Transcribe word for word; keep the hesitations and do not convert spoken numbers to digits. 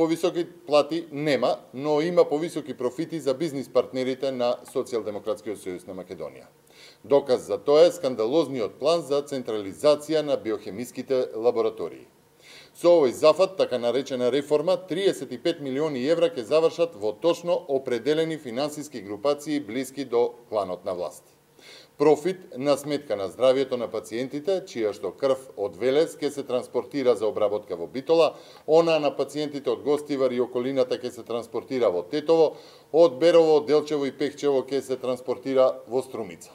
Повисоки плати нема, но има повисоки профити за бизнис партнерите на Социјалдемократскиот сојуз на Македонија. Доказ за тоа е скандалозниот план за централизација на биохемиските лаборатории. Со овој зафат, така наречена реформа, триесет и пет милиони евра ќе завршат во точно определени финансиски групации блиски до кланот на власт. Профит на сметка на здравјето на пациентите, чија што крв од Велес ќе се транспортира за обработка во Битола, она на пациентите од Гостивар и околината ќе се транспортира во Тетово, од Берово, Делчево и Пехчево ќе се транспортира во Струмица.